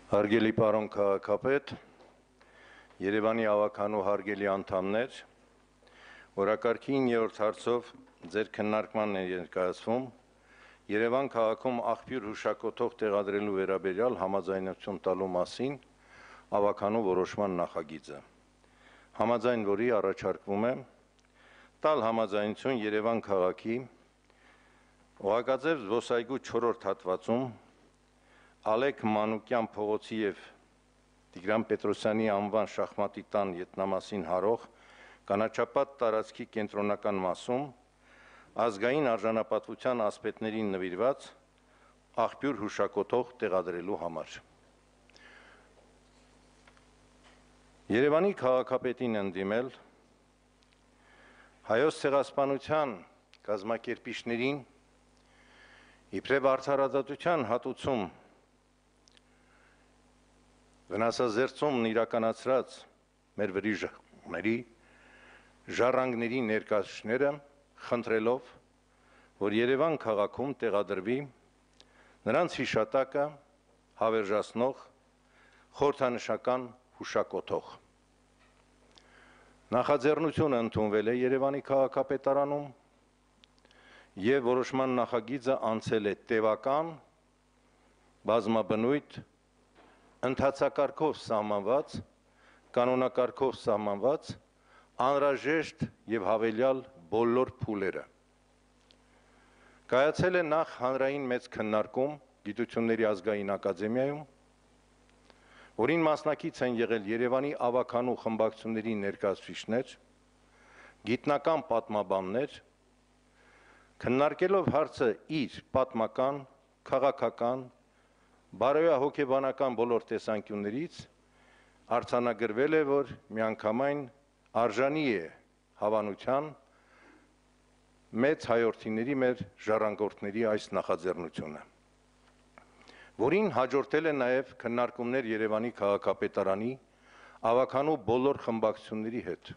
Հարգելի պարոն քաղաքապետ, Երևանի ավականու հարգելի անդամներ, օրակարգի 9-րդ հարցով ձեր քննարկմանն է ներկայացվում Երևան քաղաքում աղբյուր հուշակոթող տեղադրելու վերաբերյալ համաձայնություն տալու մասին ավականու որոշման նախագիծը, համաձայն որի առաջարկվում է տալ համաձայնություն Երևան քաղաքի Օղակաձև զբոսայգու 4-րդ հատվածում Ալեք Մանուկյան փողոցի և Տիգրան Պետրոսյանի անվան շախմատի տան ետնամասին հարող կանաչապատ տարածքի կենտրոնական մասում ազգային արժանապատվության ասպետներին նվիրված աղբյուր հուշակոթող տեղադրելու համար։ Երևանի քաղաքապետին ընդդիմել Հայոց ցեղասպանության կազմակերպիչներին իբրև արդարադատության հատուցում վնասազերծումն իրականացրած մեր վրիժների ժառանգների ներկայացուցիչները խնդրելով, որ Երևան քաղաքում տեղադրվի նրանց հիշատակը հավերժացնող խորհրդանշական հուշակոթող։ Նախաձեռնությունը ընդունվել է Երևանի քաղաքապետարանում և որոշման նախագիծը անցել է տևական, բազմաբնույթ, ընթացակարգով սահմանված, կանոնակարգով սահմանված, անհրաժեշտ և հավելյալ բոլոր փուլերը։ Կայացել է նախ հանրային մեծ քննարկում Գիտությունների ազգային ակադեմիայում, որին մասնակից են եղել Երևանի ավականու խմբակցությունների ներկայացուցիչներ, գիտնական պատմաբաններ, քննարկելով հարցը իր պատմական, քաղաքական, բարոյահոգեբանական բոլոր տեսանկյուններից արձանագրվել է, որ միանգամայն արժանի է հավանության մեծ հայրենիների մեր ժառանգորդների այս նախաձեռնությունը, որին հաջորդել է նաև քննարկումներ Երևանի քաղաքապետարանի ավականու բոլոր խմբակցությունների հետ,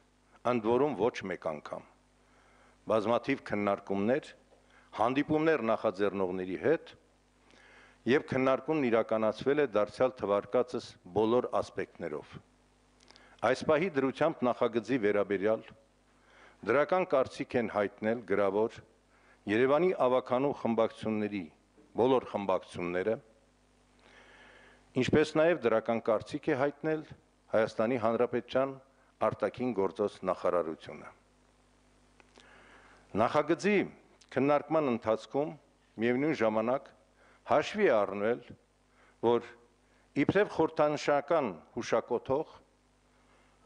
ընդ որում ոչ մեկ անգամ, բազմաթիվ քննարկումներ, հանդիպումներ նախաձեռնողների հետ և քննարկումն իրականացվել է դարձյալ թվարկածս բոլոր ասպեկտներով։ Այս պահի դրությամբ նախագծի վերաբերյալ դրական կարծիք են հայտնել գրավոր Երևանի ավականու խմբակցությունների բոլոր խմբակցությունները, ինչպես նաև դրական կարծիք է հայտնել Հայաստանի Հանրապետության արտաքին գործոց նախարարությունը։ Նախագծի քննարկման ընթացքում միևնույն ժամանակ հաշվի է առնվել, որ իբրև խորհրդանշական հուշակոթող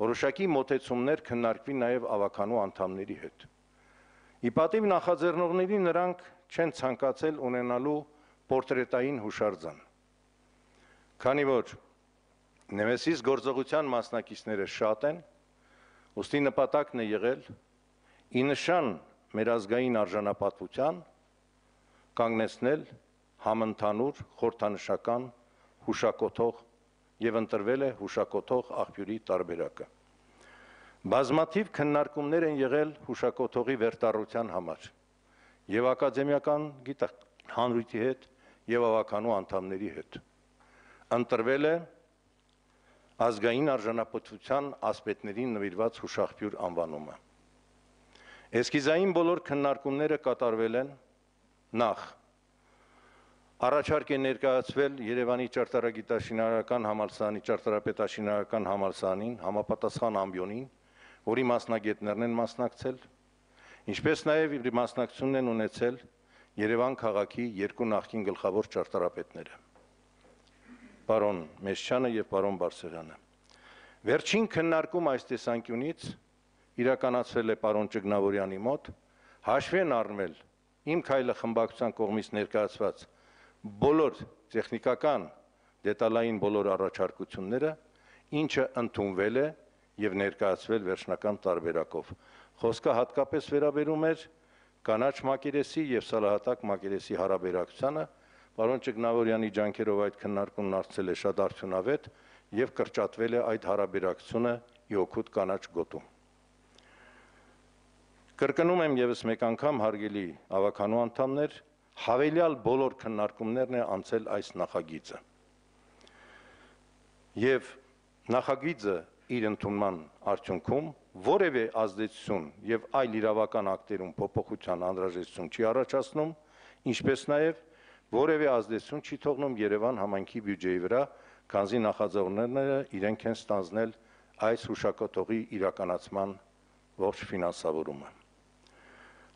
որոշակի մոտեցումներ քննարկվի նաև ավականու անդամների հետ։ Ի պատիվ նախաձեռնողների նրանք չեն ցանկացել ունենալու պորտրետային հուշարձան, քանի որ Նեմեսիս գործողության մասնակիցները շատ են, ուստի նպատակն է եղել ի նշան մեր ազգային արժանապատվության կանգնեցնել համընդհանուր խորհրդանշական հուշակոթող և ընտրվել է հուշակոթող աղբյուրի տարբերակը։ Բազմաթիվ քննարկումներ են եղել հուշակոթողի վերտառության համար և ակադեմիական հանրույթի հետ և ավականու անդամների հետ։ Ընտրվել է ազգային արժանապատվության ասպետներին նվիրված հուշաղբյուր անվանումը։ Էսքիզային բոլոր քննարկումները կատարվել են նախ առաջարկ է ներկայացվել Երևանի ճարտարագիտաշինարարական համալսարանի ճարտարապետաշինարարական համալսարանին համապատասխան ամբիոնին, որի մասնագետներն են մասնակցել, ինչպես նաև իր մասնակցությունն են ունեցել Երևան քաղաքի երկու նախկին գլխավոր ճարտարապետները, պարոն Մեշչյանը և պարոն Բարսեղյանը։ Վերջին քննարկում այս տեսանկյունից իրականացվել է պարոն Ճգնավորյանի մոտ, հաշվի են առնվել Իմ քայլը խմբակցության կողմից ներկայացված բոլոր տեխնիկական դետալային բոլոր առաջարկությունները, ինչը ընդունվել է և ներկայացվել վերջնական տարբերակով։ Խոսքը հատկապես վերաբերում էր կանաչ մակերեսի և սալահատակ մակերեսի հարաբերակցությանը, պարոն Ճգնավորյանի ջանքերով այդ քննարկումն դարձել է շատ արդյունավետ և կրճատվել է այդ հարաբերակցությունը ի օգուտ կանաչ գոտու։ Կրկնում եմ ևս մեկ անգամ, հարգելի ավականու անդամներ, հավելյալ բոլոր քննարկումներն է անցել այս նախագիծը։ եւ նախագիծը իր ընդունման արդյունքում որևէ ազդեցություն եւ այլ իրավական ակտերում փոփոխության անհրաժեշտություն չի առաջացնում, ինչպես նաեւ որևէ ազդեցություն չի թողնում Երևան համայնքի բյուջեի վրա, քանզի նախաձեռնողները իրենք են ստանձնել այս հուշակոթողի իրականացման ողջ ֆինանսավորումը։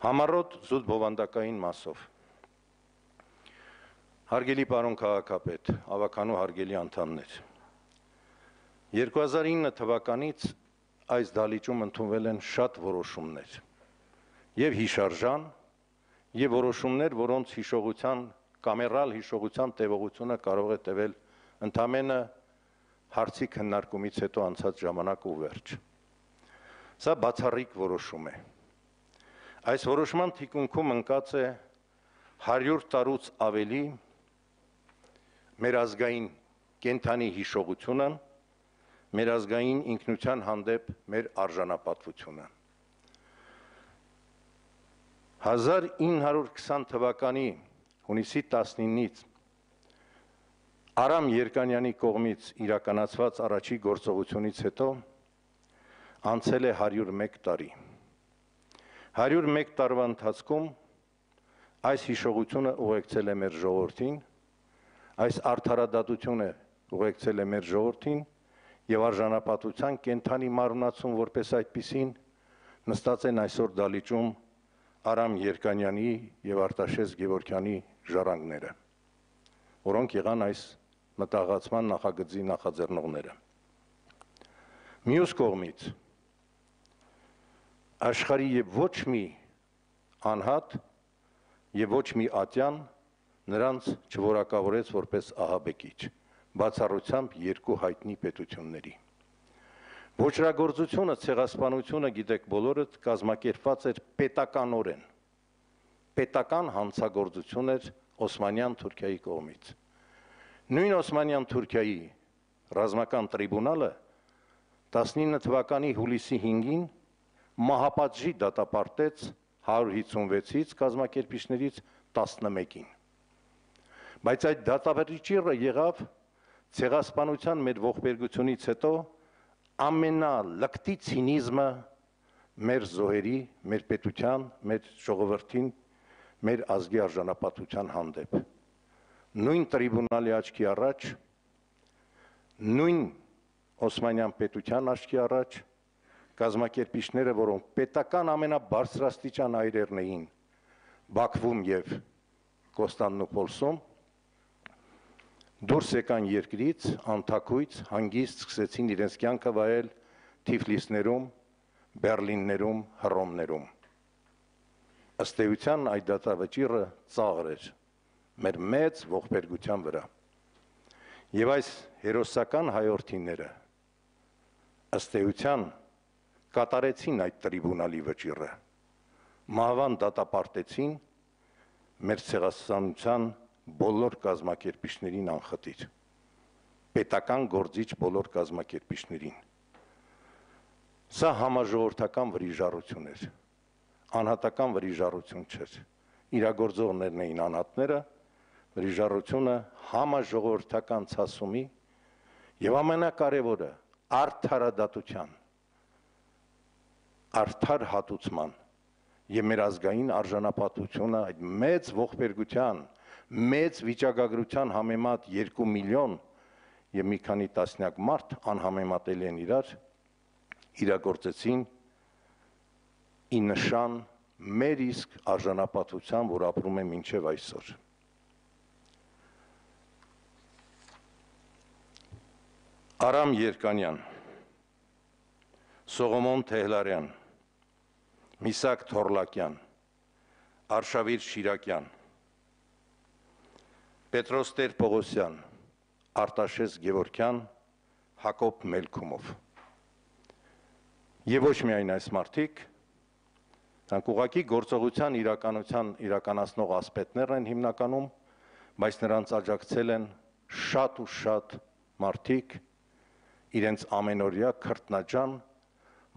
Համառոտ զուտ բովանդակային մասով։ Հարգելի պարոն քաղաքապետ, ավականու հարգելի անդամներ, 2009 թվականից այս դալիճում ընդունվել են շատ որոշումներ եւ հիշարժան եւ որոշումներ, որոնց հիշողության կամերալ հիշողության տևողությունը կարող է տևել ընդամենը հարցի քննարկումից հետո անցած ժամանակ ու վերջ։ Սա բացառիկ որոշում է։ Այս որոշման թիկունքում ընկած է 100 տարուց ավելի մեր ազգային կենթանի հիշողությունը, մեր ազգային ինքնության հանդեպ մեր արժանապատվությունը։ 1920 թվականի հունիսի 19-ից Արամ Երկանյանի կողմից իրականացված առաջի գործողությունից հետո անցել է 101 տարի։ 101 տարվա ընթացքում այս հիշողությունը ուղեկցել է մեր ժողովրդին, այս արդարադատությունը ուղեկցել է մեր ժողովրդին եւ արժանապատվության կենթանի մարմնացում որպես այդպիսին նստած են այսօր դալիճում Արամ Երկանյանի եւ Արտաշես Գևորգյանի ժառանգները, որոնք եղան այս մտահղացման նախագծի նախաձեռնողները։ Մյուս կողմից աշխարհի եւ ոչ մի անհատ եւ ոչ մի ատյան նրանց չորակավորեց որպես ահաբեկիչ, բացառությամբ երկու հայտնի պետությունների։ Ոչրագործությունը, ցեղասպանությունը, գիտեք բոլորդ, կազմակերպված էր պետականորեն, պետական հանցագործություն էր Օսմանյան Թուրքիայի կողմից։ Նույն Օսմանյան Թուրքիայի ռազմական տրիբունալը 19 թվականի հուլիսի 5-ին մահապատժի դատապարտեց 156-ից կազմակերպիչներից 11-ին։ Բայց այդ դատավերջիռը եղավ ցեղասպանության մեր ողբերգությունից հետո ամենալկտի ցինիզմը մեր զոհերի, մեր պետության, մեր ժողովրդին, մեր ազգի արժանապատվության հանդեպ։ Նույն տրիբունալի աչքի առաջ, նույն Օսմանյան պետության աչքի առաջ կազմակերպիչները, որոնք պետական ամենաբարձրաստիճան այրերն էին Բաքվում եւ Կոստանդնուպոլսում, դուրս եկան երկրից, անթակույց, հանգիստ սկսեցին իրենց կյանքը վայել Թիֆլիսներում, Բերլիններում, Հռոմներում։ Ըստ էության այդ դատավճիռը ծաղր էր մեր մեծ ողբերգության վրա։ Եվ այս հերոսական հայորդիները ըստ էության կատարեցին այդ տրիբունալի վճիռը, մահվան դատապարտեցին մեր ցեղասպանության բոլոր կազմակերպիչներին անխտիր, պետական գործիչ բոլոր կազմակերպիչներին։ Սա համաժողովրդական վրիժառություն էր, անհատական վրիժառություն չէր։ Իրագործողներն էին անհատները, վրիժառությունը համաժողովրդական ցասումի եւ ամենակարևորը արդարադատության, արդար հատուցման եւ մեր ազգային արժանապատվությունը այդ մեծ ողբերգության, մեծ վիճակագրության համեմատ 2 միլիոն եւ մի քանի տասնյակ մարդ անհամեմատելի են իրար, իրագործեցին ի նշան մեր իսկ արժանապատվության, որ ապրում է մինչև այսօր։ Արամ Երկանյան, Սողոմոն Թեհլարյան, Միսակ Թորլակյան, Արշավիր Շիրակյան, Պետրոս Տեր-Պողոսյան, Արտաշես Գևորգյան, Հակոբ Մելքումով։ Եվ ոչ միայն այս մարդիկ, նրանք ուղղակի գործողության իրականացնող ասպետներն են հիմնականում, բայց նրանց աջակցել են շատ ու շատ մարդիկ, իրենց ամենօրյա քրտնաջան,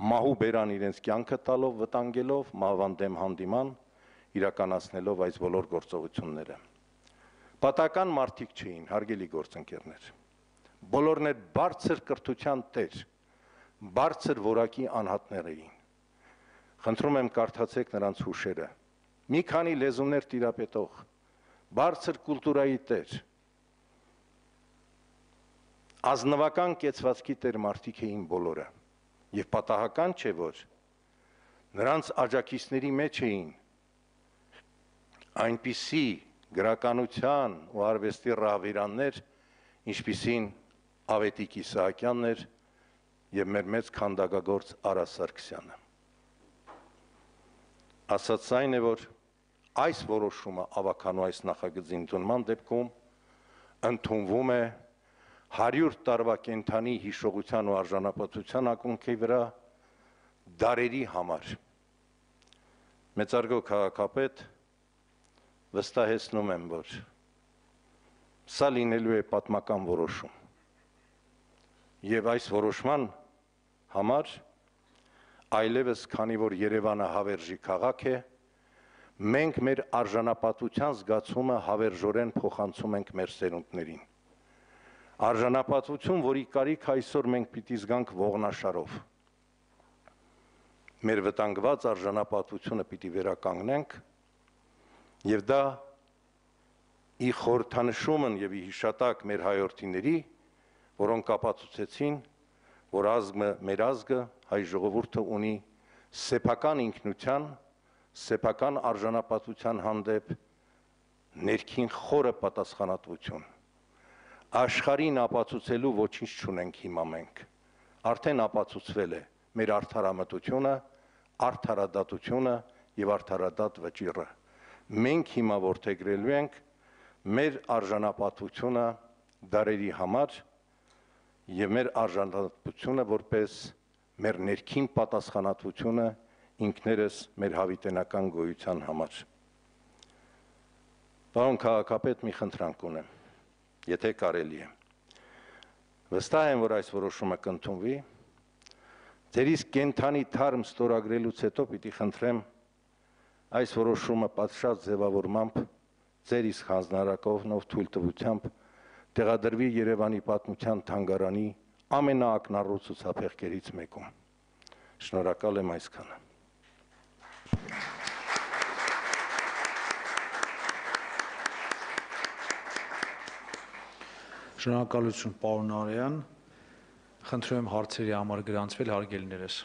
մահու բերան իրենց կյանքը տալով, վտանգելով, մահվան դեմ հանդիման, իրականացնելով այս բոլոր գործողությունները։ Պատական մարդիկ չէին, հարգելի գործընկերներ, բոլորն էլ բարձր կրթության տեր, բարձր որակի անհատներ էին։ Խնդրում եմ կարդացեք նրանց հուշերը։ Մի քանի լեզուներ տիրապետող, բարձր կուլտուրայի տեր, ազնվական կեցվածքի տեր մարդիկ էին բոլորը, եւ պատահական չէ, որ նրանց աջակիցների մեջ էին այնպիսի գրականության ու արվեստի ռահվիրաններ, ինչպիսին Ավետիք Իսահակյանն էր եւ մեր մեծ քանդակագործ Արա Սարգսյանը։ Ասած այն է, որ այս որոշումը ավականու այս նախագծի ընդունման դեպքում ընդունվում է 100 տարվա կենդանի հիշողության ու արժանապատվության ակունքի վրա դարերի համար։ Մեծարգո քաղաքապետ, վստահեցնում եմ, որ սա լինելու է պատմական որոշում։ Եվ այս որոշման համար այլևս, քանի որ Երևանը հավերժի քաղաք է, մենք մեր արժանապատվության զգացումը հավերժորեն փոխանցում ենք մեր սերունդներին։ Արժանապատվություն, որի կարիք այսօր մենք պիտի զգանք ողնաշարով։ Մեր վտանգված արժանապատվությունը պիտի վերականգնենք, եւ դա ի խորհրդանշումն եւ ի հիշատակ մեր հայրենիների, որոնք ապացուցեցին, որ մեր ազգը, հայ ժողովուրդը ունի սեփական ինքնության, սեփական արժանապատվության հանդեպ ներքին խորը պատասխանատվություն։ Աշխարհին ապացուցելու ոչինչ չունենք հիմա մենք։ Արդեն ապացուցվել է մեր արդարամտությունը, արդարադատությունը եւ արդարադատ վճիռը։ Մենք հիմա որդեգրելու ենք մեր արժանապատվությունը դարերի համար եւ մեր արժանապատվությունը որպես մեր ներքին պատասխանատվությունը ինքներս մեր հավիտենական գոյության համար։ Պարոն քաղաքապետ, մի խնդրանք ունեմ, եթե կարելի է։ Վստահ եմ, որ այս որոշումը կընդունվի, ձեր իսկ կենդանի թարմ ստորագրելուց հետո պիտի խնդրեմ այս որոշումը պատշաճ ձևավորմամբ ձեր իսկ հանձնարարակողնով թույլտվությամբ տեղադրվի Երևանի պատմության թանգարանի ամենաակնառու ցուցափեղկերից մեկում։ Շնորհակալ եմ այսքանը։ Շնորհակալություն, պարոն Արեյան։ Խնդրում եմ հարցերի համար գրանցվել, հարգելիներս։